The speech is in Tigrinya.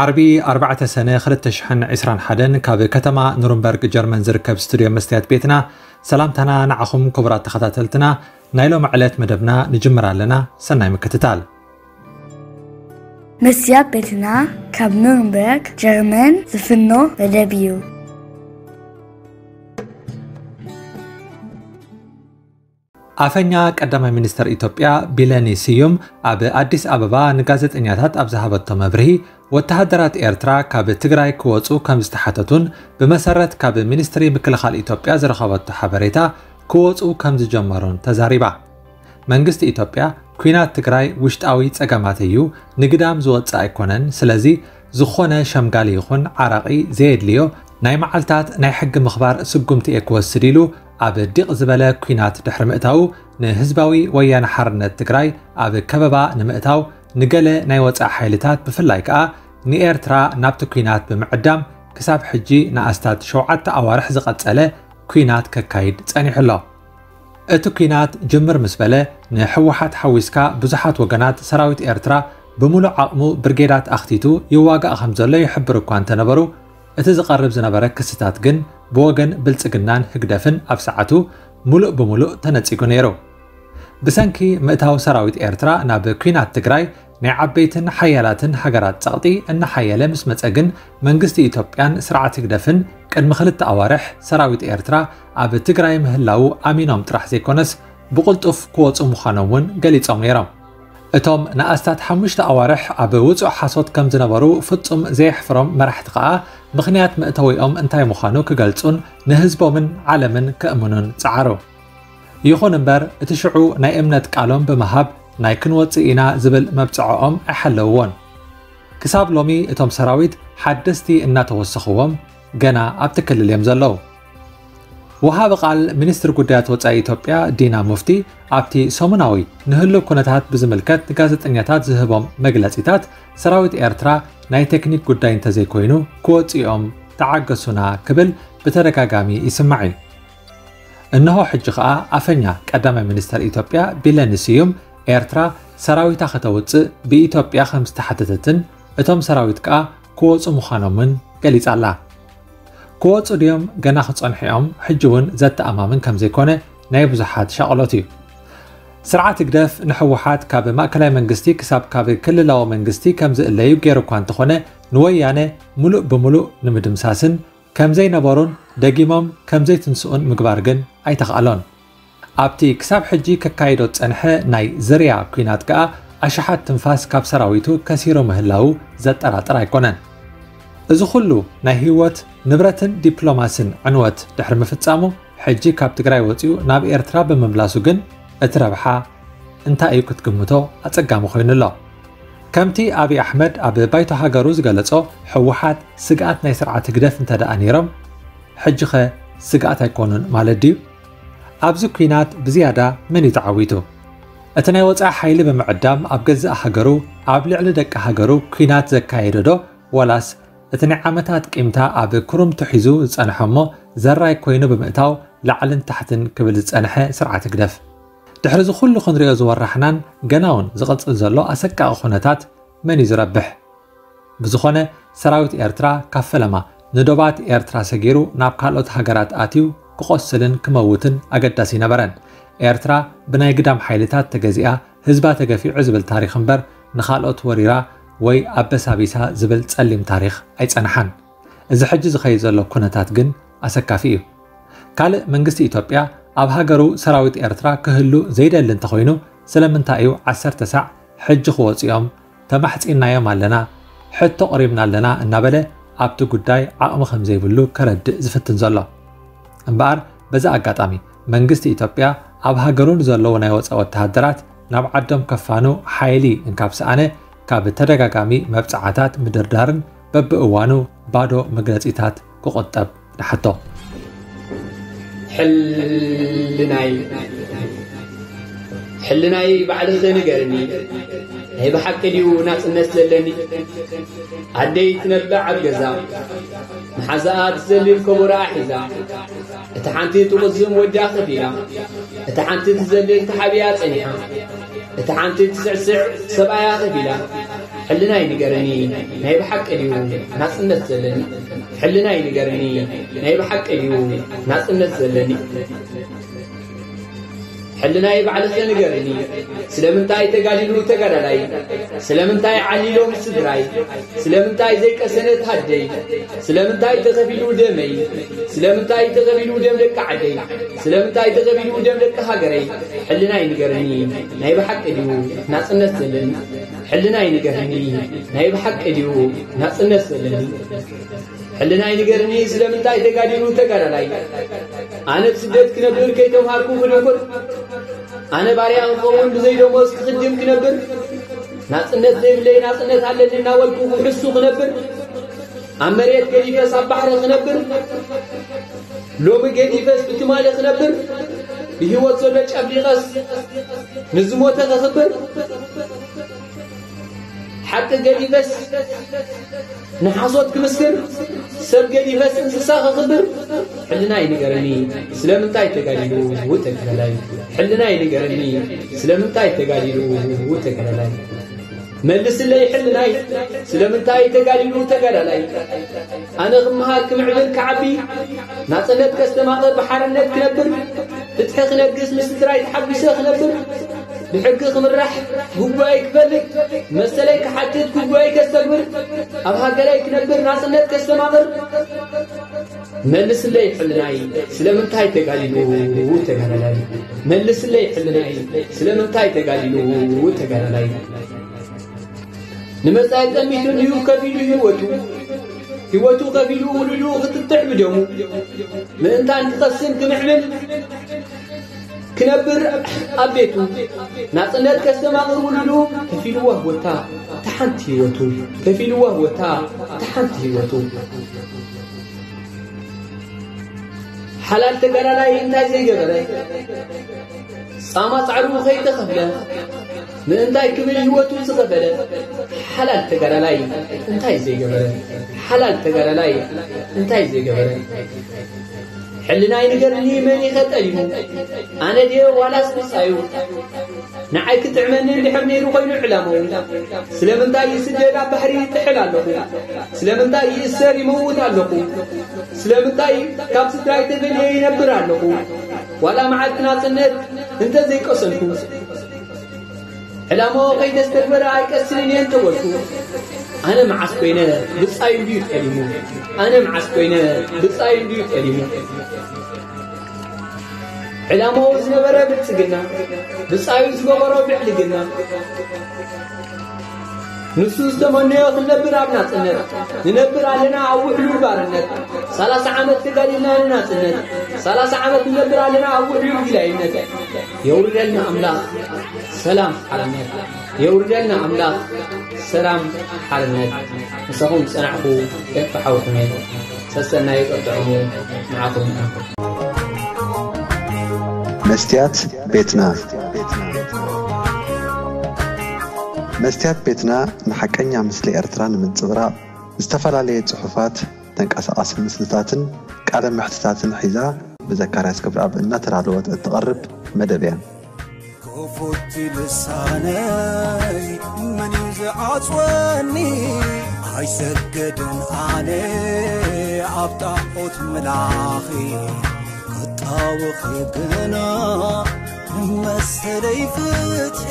ዓርቢ ኣርባዕተ ሰነ ክልተ ሽሕን ዕስራን ሓደን ካብ ከተማ ኑርንበርግ ጀርመን ዝርከብ ስቱድዮ መስትያት ቤትና ሰላምታና ንዓኹም ክቡራት ተኸታተልትና ናይ ሎሚ ዕለት መደብና ንጅምር ኣለና። ሰናይ ምክትታል። መስትያት ቤትና ካብ ኑርንበርግ ጀርመን ዝፍኖ መደብ እዩ። ኣፈኛ ቀዳማይ ሚኒስተር ኢትዮጵያ ቢለኒ ስዩም ኣብ ኣዲስ ኣበባ ንጋዜጠኛታት ኣብ ዝሃበቶ መብርሂ፣ ወተሃደራት ኤርትራ ካብ ትግራይ ክወጹ ከም ዝተሓተቱን ብመሰረት ካብ ሚኒስትሪ ምክልኻል ኢትዮጵያ ዝረኸበቶ ሓበሬታ ክወጹ ከም ዝጀመሩን ተዛሪባ። መንግስቲ ኢትዮጵያ፣ ኲናት ትግራይ ውሽጣዊ ጸገማት እዩ፣ ንግዳም ዝወጽእ ኣይኮነን፣ ስለዚ ዝኾነ ሸምጋሊ ይኹን ዓራቒ ዘየድልዮ ናይ መዓልታት ናይ ሕጊ ምኽባር ስጉምቲ እየ ክወስድ ኢሉ ኣብ ዲቕ ዝበለ ኲናት ድሕሪ ምእታዉ፣ ንህዝባዊ ወያነ ሓርነት ትግራይ ኣብ ከበባ ንምእታው ንገለ ናይ ወጻኢ ሓይልታት ብፍላይ ከኣ ንኤርትራ ናብቲ ኲናት ብምዕዳም ክሳብ ሕጂ ንኣስታት ሸውዓተ ኣዋርሕ ዝቐጸለ ኲናት ከካይድ ጸኒሑ ኣሎ። እቲ ኲናት ጅምር ምስ በለ ንህወሓት ሓዊስካ ብዙሓት ወገናት ሰራዊት ኤርትራ ብምሉእ ዓቕሙ ብርጌዳት ኣኽቲቱ ይዋጋእ ከም ዘሎ ይሕብር እኳ እንተነበሩ፣ እቲ ዝቐርብ ዝነበረ ክስታት ግን ብወገን ብልጽግናን ህግደፍን ኣብ ሰዓቱ ምሉእ ብምሉእ ተነጺጉ ነይሩ። ብሰንኪ ምእታው ሰራዊት ኤርትራ ናብ ኲናት ትግራይ ናይ ዓበይትን ሓያላትን ሃገራት ጸቕጢ እናሓየለ ምስ መጸ ግን መንግስቲ ኢትዮጵያን ስርዓት ህግደፍን ቅድሚ ክልተ ኣዋርሕ ሰራዊት ኤርትራ ኣብ ትግራይ ምህላዉ ኣሚኖም ጥራሕ ዘይኮነስ ብቕልጡፍ ክወጹ ምዃኖም እውን ገሊጾም ነይሮም። እቶም ንኣስታት ሓሙሽተ ኣዋርሕ ኣብ ውጹእ ሓሶት ከም ዝነበሩ ፍጹም ዘየሕፍሮም መራሕቲ ከኣ ምኽንያት መእተዊኦም እንታይ ምዃኑ ክገልጹን ንህዝቦምን ዓለምን ከእምኑን ጸዓሩ። ይኹን እምበር እቲ ሽዑ ናይ እምነት ቃሎም ብምሃብ ናይ ክንወጽእ ኢና ዝብል መብጽዖኦም ኣይሓለውዎን። ክሳብ ሎሚ እቶም ሰራዊት ሓደስቲ እናተወሰኽዎም ገና ኣብቲ ክልል እዮም ዘለዉ። ወሃቢ ቃል ሚኒስትሪ ጉዳያት ወጻኢ ኢትዮጵያ ዲና ሙፍቲ ኣብቲ ሰሙናዊ ንህሉው ኩነታት ብዝምልከት ንጋዜጠኛታት ዝህቦም መግለጺታት ሰራዊት ኤርትራ ናይ ቴክኒክ ጉዳይ እንተዘይኮይኑ ክወጽኡ እዮም ተዓገሱና ክብል ብተደጋጋሚ ይስማዕ እዩ። እነሆ ሕጂ ከኣ ኣፈኛ ቀዳማይ ሚኒስተር ኢትዮጵያ ቢለኒ ስዩም ኤርትራ ሰራዊታ ከተውጽእ ብኢትዮጵያ ከም ዝተሓተተትን እቶም ሰራዊት ከኣ ክወጹ ምዃኖምን ገሊጻ ኣላ። ክወጹ ድዮም ገና ክጸንሑ እዮም ሕጂ እውን ዘተኣማምን ከም ዘይኮነ ናይ ብዙሓት ሻቕሎት እዩ። ስርዓት ህግደፍ ንህወሓት ካብ ማእከላይ መንግስቲ ክሳብ ካብ ክልላዊ መንግስቲ ከም ዝእለዩ ገይሩ እኳ እንተኾነ ንወያነ ምሉእ ብምሉእ ንምድምሳስን ከም ዘይነበሩን ደጊሞም ከም ዘይትንስኡን ምግባር ግን ኣይተኽኣሎን። ኣብቲ ክሳብ ሕጂ ከካይዶ ዝጸንሐ ናይ ዝርያ ኲናት ከኣ ኣሽሓት ትንፋስ ካብ ሰራዊቱ ከሲሩ ምህላዉ ዘጠራጥር ኣይኮነን። እዚ ኩሉ ናይ ህይወት ንብረትን ዲፕሎማስን ዕንወት ድሕሪ ምፍጻሙ ሕጂ ካብ ትግራይ ወጺኡ ናብ ኤርትራ ብምምላሱ ግን እቲ ረብሓ እንታይ እዩ ክትግምቶ ኣጸጋሚ ኮይኑ ኣሎ። ከምቲ ኣብይ ኣሕመድ ኣብ ባይቶ ሃገሩ ዝገለጾ ህወሓት ስግኣት ናይ ስርዓት ህግደፍ እንተ ደኣ ነይሮም ሕጂ ኸ ስግኣት ኣይኮኑን ማለት ድዩ? ኣብዚ ኲናት ብዝያዳ መን እዩ ተዓዊቱ? እቲ ናይ ወጻኢ ሓይሊ ብምዕዳም ኣብ ገዛእ ሃገሩ ኣብ ልዕሊ ደቂ ሃገሩ ኲናት ዘካየደ ዶ ዋላስ እቲ ናይ ዓመታት ቂምታ ኣብ ክሩምቱ ሒዙ ዝጸንሐ እሞ ዘራይ ኮይኑ ብምእታው ላዕልን ታሕትን ክብል ዝጸንሐ ስርዓት ህግደፍ? ድሕሪ እዚ ኩሉ ክንሪኦ ዝወራሕናን ገና እውን ዝቕጽል ዘሎ ኣሰቃቒ ኩነታት መን እዩ ዝረብሕ? ብዝኾነ ሰራዊት ኤርትራ ካብ ፈለማ ንዶባት ኤርትራ ሰጊሩ ናብ ካልኦት ሃገራት ኣትዩ ክቖስልን ክመውትን ኣገዳሲ ኣይነበረን። ኤርትራ ብናይ ግዳም ሓይልታት ተገዚኣ ህዝባ ተገፊዑ ዝብል ታሪኽ እምበር ንኻልኦት ወሪራ ወይ ኣበሳቢሳ ዝብል ጸሊም ታሪኽ ኣይጸንሓን። እዚ ሕጂ ዝኸይድ ዘሎ ኩነታት ግን ኣሰካፊ እዩ። ካልእ መንግስቲ ኢትዮጵያ ኣብ ሃገሩ ሰራዊት ኤርትራ ክህሉ ዘይደሊ እንተኾይኑ ስለምንታይ እዩ ዓሰርተ ሳዕ ሕጂ ክወፁ እዮም ተማሕፂንናዮም ኣለና ሕቶ ቅሪብና ኣለና እናበለ ኣብቲ ጉዳይ ዓቕሚ ከም ዘይብሉ ከረድእ ዝፍትን ዘሎ? እምበኣር በዚ ኣጋጣሚ መንግስቲ ኢትዮጵያ ኣብ ሃገሩ ንዘለዉ ናይ ወፃኢ ወተሃደራት ናብ ዓዶም ከፋኑ ሓይሊ እንካብ ሰኣነ ካብ ተደጋጋሚ መብፅዓታት ምድርዳርን በብእዋኑ ባዶ መግለፂታት ክቑጠብ ንሓቶ። ሕልናይ ሕልናይ ባዕልኺ ንገርኒ፣ ናይ ብሓቂ ድዩ ናጽነት ዘለኒ? ኣደይ ትነብዕ ኣብ ገዛ፣ መሓዛኣ ትዘልል ከበሮኣ ሒዛ፣ እታ ሓንቲ ትቑዝም ወዳ ከፊላ፣ እታ ሓንቲ ትዘልል ተሓቢኣ ጸኒሓ፣ እታ ሓንቲ ትስዕስዕ ሰብኣያ ከፊላ፣ ሕልናይ ንገርኒ፣ ናይ ብሓቂ ድዩ ናጽነት ዘለኒ? ሕልናይ ንገርኒ፣ ናይ ብሓቂ ድዩ ናጽነት ዘለኒ? ሕልናይ ባዕልኸ ንገርኒ፣ ስለምንታይ ተጋዲሉ ተጋዳላይ? ስለምንታይ ዓሊሎም ስድራይ? ስለምንታይ ዘይቀሰነት ሃደይ? ስለምንታይ ተኸፊሉ ደመይ? ስለምንታይ ተኸፊሉ ደም ደቂ ዓደይ? ስለምንታይ ተኸፊሉ ደም ደቂ ሃገረይ? ሕልናይ ንገርኒ፣ ናይ ብሓቂ ድዩ ናጽነት ዘለኒ? ሕልናይ ንገርኒ፣ ናይ ብሓቂ ድዩ ናጽነት ዘለኒ? ሕልናይ ንገርኒ፣ ስለምንታይ ተጋዲሉ ተጋዳላይ? ኣነ ብስደት ክነብር ከይተምሃርኩ ክድንቁር፣ ኣነ ባርያ ክኸውን ብዘይ ደሞዝ ክኽድም ክነብር፣ ናጽነት ዘይብለይ ናጽነት ኣለኒ እናበልኩ ክሕሱ ክነብር፣ ኣብ መሬት ገዲፈስ ኣብ ባሕሪ ክነብር፣ ሎሚ ገዲፈስ ብትማሊ ክነብር፣ ብህይወት ዘሎ ጨፍሊቐስ ንዝሞተ ከኽብር፣ ሓቂ ገዲፈስ ንሓሶት ክምስክር፣ ሰብ ገዲፈስ እንስሳ ከኽብር፣ ሕልናይ ንገርኒ፣ ስለምንታይ ተጋዲሉ ተጋዳላይ? ሕልናይ ንገርኒ፣ ስለምንታይ ተጋዲሉ ተጋዳላይ? መልስለይ ሕልናይ፣ ስለምንታይ ተጋዲሉ ተጋዳላይ? ኣነ ክመሃር ክምዕብል ክዓቢ፣ ናጽነት ከስተማቕር ብሓርነት ክነብር፣ ፍትሒ ክነግስ ምስ ስድራይ ተሓጒሰ ክነብር፣ ብሕጊ ክምራሕ፣ ግቡኣይ ክፈልጥ፣ መሰለይ ክሓትት፣ ግቡኣይ ከስተግብር፣ ኣብ ሃገረይ ክነብር፣ ናጽነት ከስተማቕር። መልስለይ ሕልናይ፣ ስለምንታይ ተጋዲሉ ተጋዳላይ? መልስለይ ሕልናይ፣ ስለምንታይ ተጋዲሉ ተጋዳላይ? ንመጻኢ ጠሚቱ እንድዩ ከፊሉ ህይወቱ፣ ህይወቱ ከፊሉ ውሉዱ ክትጥሕ ብደሙ፣ ምእንታን ክቐስን ክምዕብል ክነብር ኣብ ቤቱ፣ ናጽነት ከስተማቕር ውሉዱ ከፊልዋ ህይወታ እታ ሓንቲ ህይወቱ፣ ከፊልዋ ህይወታ እታ ሓንቲ ህይወቱ። ሓላል ተጋዳላይ እንታይ ዘይገበረ? ጻማ ጻዕሩ ከይተኸፍለ ምእንታይ ክብል ህይወቱ ዝኸፈለ ሓላል ተጋዳላይ እንታይ ዘይገበረ? ሓላል ተጋዳላይ እንታይ ዘይገበረ? ሕልናይ ንገርኒ፣ መን ኢኸ ጠሊሙ? ኣነ ድየ ዋላስ ብጻዩ? ንዓይ ክጥዕመኒ እንድሕር ነይሩ ኮይኑ ዕላምኡ፣ ስለምንታይ ይስደድ ኣብ ባሕሪ ይጥሕል ኣለኹ? ስለምንታይ ይእሰር ይመውት ኣለኹ? ስለምንታይ ካብ ስድራይ ተፈልየ ይነብር ኣለኹ? ዋላ መዓልቲ ናጽነት እንተ ዘይቀሰንኩ፣ ዕላማኡ ከይተስተግበረ ኣይቀስንን እየ እንተበልኩ፣ ኣነ መዓስ ኮይነ ብጻዩ እንድዩ ጠሊሙ? ኣነ መዓስ ኮይነ ብጻዩ እንድዩ ጠሊሙ? ዕላማኡ ዝነበረ ብልጽግና፣ ብጻዩ ዝገበሮ ብዕልግና፣ ንሱ ዝተመነዮ ክንነብር ኣብ ናጽነት፣ ንነብር ኣለና ኣብ ውሕሉል ባርነት። ሰላሳ ዓመት ተጋዲልና ንናጽነት፣ ሰላሳ ዓመት ንነብር ኣለና ኣብ ውሕሉል ጊላይነት። የውርደልና ኣምላኽ ሰላም ሓርነት፣ የውርደልና ኣምላኽ ሰላም ሓርነት። ምሳኹም ዝጸናሕኩ ኤፍካ ሓውኩም እየ። ሰሰናዩ ቀጥዕሙ ንዓኹም እዩ። መስትያት ቤትና። መስትያት ቤትና ንሓቀኛ ምስሊ ኤርትራ ንምንጽብራቕ ዝተፈላለየ ጽሑፋት፣ ተንቀሳቓሲ ምስልታትን ቃለ መሕትታትን ሒዛ ብዘካርያስ ክብረኣብ እናተዳለወት እትቐርብ መደብ እያ። ክፉት ልሳነይ መን እዩ ዝዓጽወኒ? ኣይሰገድን ኣነ ኣብ ጣዖት ምላኺ ክጣወኺ ግና መሰለይ ፍትሒ